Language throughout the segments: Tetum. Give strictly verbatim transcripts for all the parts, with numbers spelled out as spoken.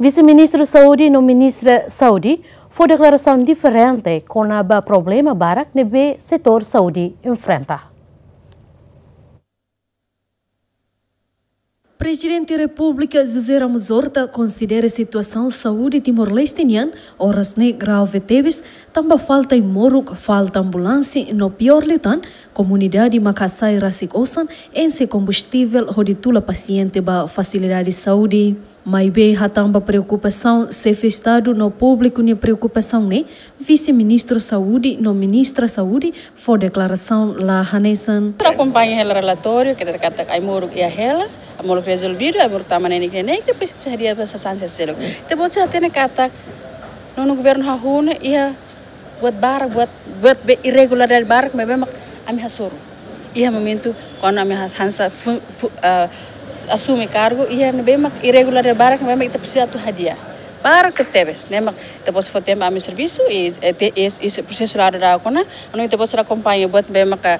Vise-Ministru Saúde no Ministra Saúde fó deklarasaun diferente kona-ba problema barak ne'ebé setór saúde enfrenta. Prezidente Repúblika José Ramos Horta konsidera situasaun saúde Timor-Leste nian oras ne'e grave tebes, tanba falta ai-moruk, falta ambulánsia, no piór liután, komunidade mak hasai rasik osan enxe kombustivel hodi tula pasiente ba fasilidade saúde. Maibé hatán ba preokupasaun xefe Estadu no públiku nia preokupasaun ne'e, Vise-Ministru Saúde no Ministra Saúde fó deklarasaun la hanesan. Ita akompaña hela relatóriu, ita hatene katak ai-moruk iha hela, ai-moruk rezolvidu, ai-moruk tama neineik-neineik, depois ita sei hadi'a ba sasán seluk. Ita-boot sira hatene katak nonu governu hahú ne'e iha buat barak, buat, buat be irregularidade barak ne'ebé mak ami hasoru. Iha momentu kuandu ami has-, hanesan fu-, fu-, ah, asume kargu, iha ne'ebé mak irregularidade barak ne'ebé mak ita presiza atu hadi'a. Barak tebetebes, ne'e mak ita-boot sei fó tempu ami servisu, i, i, i, i prosesu la'o daudauk ona, entaun ita-boot sei akompaña buat ne'ebé maka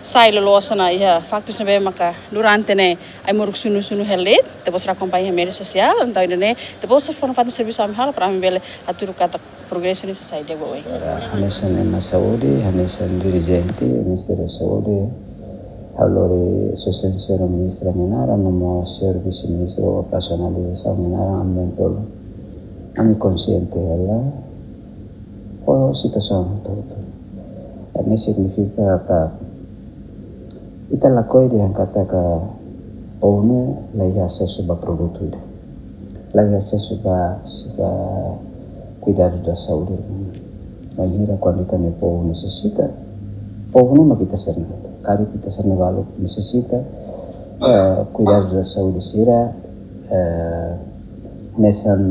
sai loloos ona iha faktus ne'ebé maka durante ne'e ai-moruk sunu-sunu hela de'it, ita-boot sei akompaña média sosiál, entaun ida-ne'e ita-boot sei fó nafatin servisu ami halo para ami bele hatudu katak progresu ne'e sei sai di'ak ba oin. Ora, hanesan ema saúde, hanesan dirijente Ministériu Saúde, ha'u lori Sua Exelénsia Ministra nia naran, no mós señór Vise-Ministru Operasionalizasaun nia naran, ami na'in-tolu. Ami konsiente hela ho situasaun hotu-hotu. Ne'e signifika katak ita lakohi dehan katak povu ne'e la iha asesu ba produtu ida. La iha asesu ba, ba kuidadu da saúde. Bainhira kuandu ita-nia povu nesesita, povu ne'e mak ita sira-nia. Karik ita sira-nia balu nesesita, eh, kuidadu da saúde sira, eh, hanesan,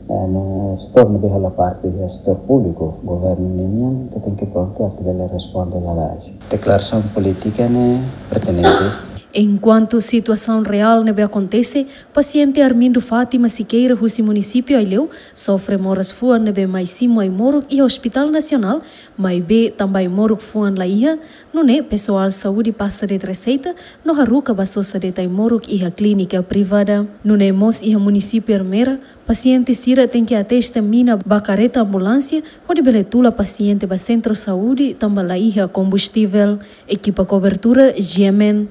eh, ne'e setór ne'ebé hola parte iha setór públiku, governu ninian, ita tenke prontu atu bele responde lalais. Deklarasaun polítika ne'e pertinente. Enkuantu situasaun reál ne'ebé akontese, pasiente Armindo Fátima Sequeira husi munisípiu Aileu sofre moras fuan ne'ebé mai simu ai-moruk iha Hospital Nasionál, maibé tanba ai-moruk fuan la iha, nune'e pesoál saúde pasa de'it reseita no haruka ba sosa de'it ai-moruk iha klínika privada. Nune'e mós iha munisípiu Ermera, pasiente sira tenke atesta mina ba kareta ambulánsia hodi bele tula pasiente ba sentru saúde tanba la iha kombustivel. Ekipa kobertura, G M N.